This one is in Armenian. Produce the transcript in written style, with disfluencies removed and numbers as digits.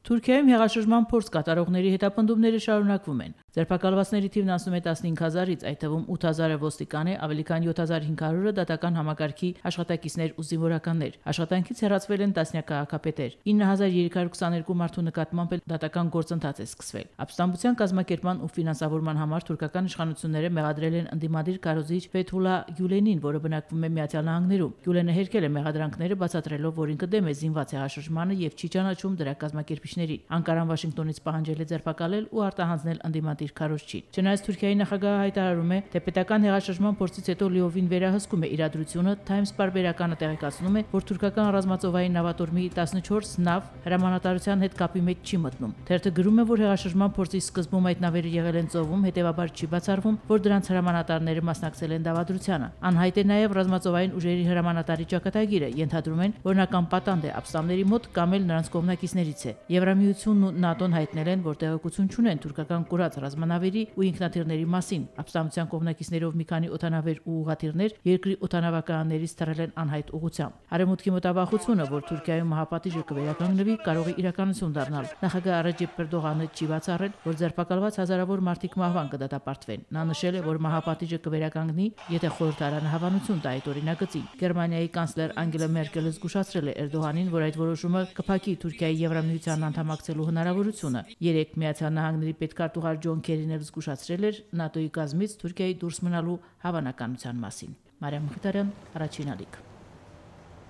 Թուրքիայում հեղաշրջման փորձ կատարողների հետապնդումները շարունակվում են։ Ձերբակալվածների թիվն անցնում է 15,000-ից, այդ թվում 8,000-ը ոստիկան է, ավելի քան 7,500-ը դատական համակարգի աշխատակիցներ ու զինվորականներ։ Աշխատանքից հեռացվել են տասնյակ քաղաքապետեր։ 9,322 մարդու նկատմամբ դատական գործընթաց է սկսվել։ Ապստամբության կազմակերպման ու ֆինանսավորման համար թուրքական իշխանությունները մեղադրել են ընդդիմադիր քարոզիչ Ֆեթուլա Գյուլենին, որը բնակվում է Միացյալ Նահանգներում։ Գյուլենը հերքել է մեղադրանքները, բացատրելով, որ ինքը դեմ է զինված հեղաշրջմանը եւ չի ճանաչում դրա կազմակերպիչներին։ Անկարան Վաշինգտոնից պահանջել է ձերբակալել ու արտահանձնել ընդդիմադիր քարոզչին։ Չնայած Թուրքիայի նախագահը հայտարարում է, թե պետական հեղաշրջման փորձից հետո լիովին վերահսկում է իրադրությունը, Times պարբերականը տեղեկացնում է, որ թուրքական ռազմածովային նավատորմի 14 նավ հրամանատարության հետ կապի մեջ չի մտնում։ Թերթը գրում է, որ հեղաշրջման փորձի սկզբում այդ նավերը եղել են ծովում, հետևաբար չի բացառվում, որ դրանց հրամանատարները մասնակցել են դավադրությանը։ Անհայտ է նաև ռազմածովային ուժերի հրամանատարի ճակատագիրը, ենթադրում են, որ նա կամ պատանդ է ապստամբների մոտ կամ էլ նրանց կողմնակիցներից է։ Եվրամիությունն ու ՆԱՏՕ-ն հայտնել են, որ տեղեկություն չունեն թուրքական կուրած ռազմանավերի ու ինքնաթիռների մասին։ Ապստամբության կողմնակիցներով մի քանի օդանավեր ու ուղղաթիռներ երկրի օդանավականներից թռել են անհայտ ուղղությամբ։ Արևմուտքի մտավախությունը, որ Թուրքիայում մահապատիժը կվերականգնվի, կարող է իրականություն դառնալ։ Նախագահ Ռեջեփ Էրդողանը չի բացառել, որ ձերբակալված հազարավոր մարդիկ մահվան կդատապարտվեն։ Նա նշել է, որ մահապատիժը կվերականգնի, եթե խորհրդարանը հավանություն տա այդ օրինագծին։ Գերմանիայի կանցլեր Անգելա Մերկելը զգուշացրել է Էրդողանին, որ այդ որոշումը կփակի Թուրքիայի Եվրամիության անդամակցելու հնարավորությունը։ Երեկ Միացյալ Նահանգների պետքարտուղար Ջոն Քերին էլ զգուշացրել էր ՆԱՏՕ-ի կազմից Թուրքիայի դուրս մնալու հավանականության մասին։ Մարիամ Մխիթարյան, Առաջին ալիք։